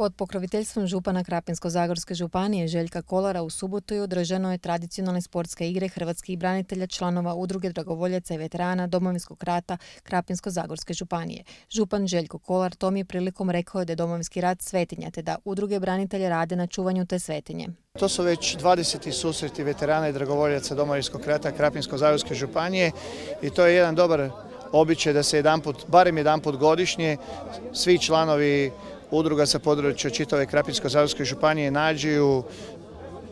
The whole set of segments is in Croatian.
Pod pokroviteljstvom župana Krapinsko-zagorske županije Željka Kolara u subotu je održano je tradicionalne sportske igre hrvatskih branitelja, članova udruge dragovoljaca i veterana Domovinskog rata Krapinsko-zagorske županije. Župan Željko Kolar tom je prilikom rekao da je Domovinski rat svetinja, te da udruge branitelja rade na čuvanju te svetinje. To su već 20. susreti veterana i dragovoljaca Domovinskog rata Krapinsko-zagorske županije i to je jedan dobar običaj da se barem jedanput godišnje svi članovi udruga sa područja čitave Krapinsko-zagorske županije nađu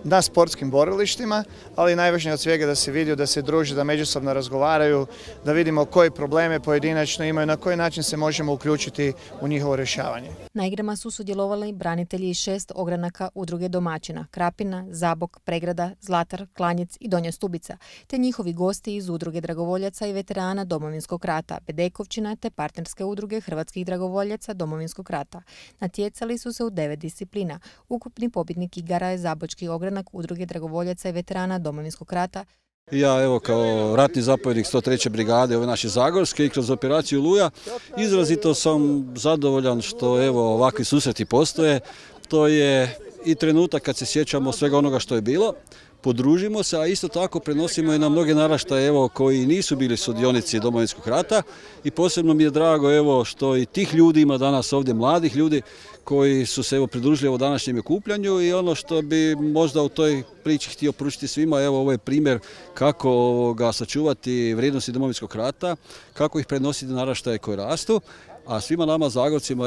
na sportskim borilištima, ali najvažnije od svega da se vidi, da se druže, da međusobno razgovaraju, da vidimo koje probleme pojedinačno imaju, na koji način se možemo uključiti u njihovo rješavanje. Na igrama su sudjelovali branitelji iz 6 ogranaka udruge domaćina Krapina, Zabok, Pregrada, Zlatar, Klanjec i Donja Stubica, te njihovi gosti iz udruge dragovoljaca i veterana Domovinskog rata Bedekovčina te partnerske udruge hrvatskih dragovoljaca Domovinskog rata. Natjecali su se u 9 disciplina. Ukupni pobjednik igara je zabočki ogranak udruge dragovoljaca i veterana Domovinskog rata. Ja kao ratni zapovjednik 103. brigade ove naše Zagorske i kroz operaciju Oluja izrazito sam zadovoljan što ovakvi susreti postoje. To je i trenutak kad se sjećamo svega onoga što je bilo, podružimo se, a isto tako prenosimo i na mnoge naraštaje koji nisu bili sudionici Domovinskog rata i posebno mi je drago što i tih ljudi ima danas ovdje, mladih ljudi koji su se pridružili današnjem okupljanju i ono što bi možda u toj priči htio pružiti svima, ovo je primjer kako sačuvati vrijednosti Domovinskog rata, kako ih prenositi na naraštaje koji rastu. A svima nama Zagorcima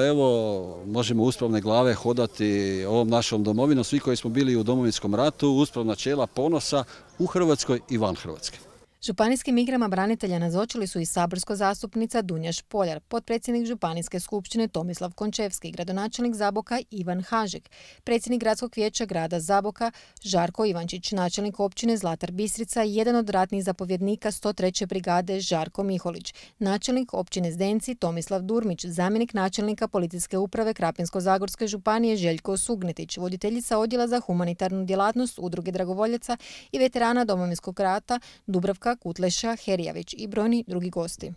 možemo uspravne glave hodati ovom našom domovinom, svi koji smo bili u Domovinskom ratu, uspravna čela ponosa u Hrvatskoj i van Hrvatske. Županijskim igrama branitelja nazočili su i saborska zastupnica Dunja Špoljar, potpredsjednik Županijske skupštine Tomislav Končevski, gradonačelnik Zaboka Ivan Hažek, predsjednik gradskog vijeća grada Zaboka Žarko Ivančić, načelnik općine Zlatar Bistrica i jedan od ratnih zapovjednika 103. brigade Žarko Miholić, načelnik općine Zdenci Tomislav Durmić, zamjenik načelnika policijske uprave Krapinsko-zagorske županije Željko Sugnetić, voditeljica odjela za humanitarnu djelatnost udruge dragovoljaca i veterana Domovinskog rata Dubravka Kutleša Herijavić i brojni drugi gosti.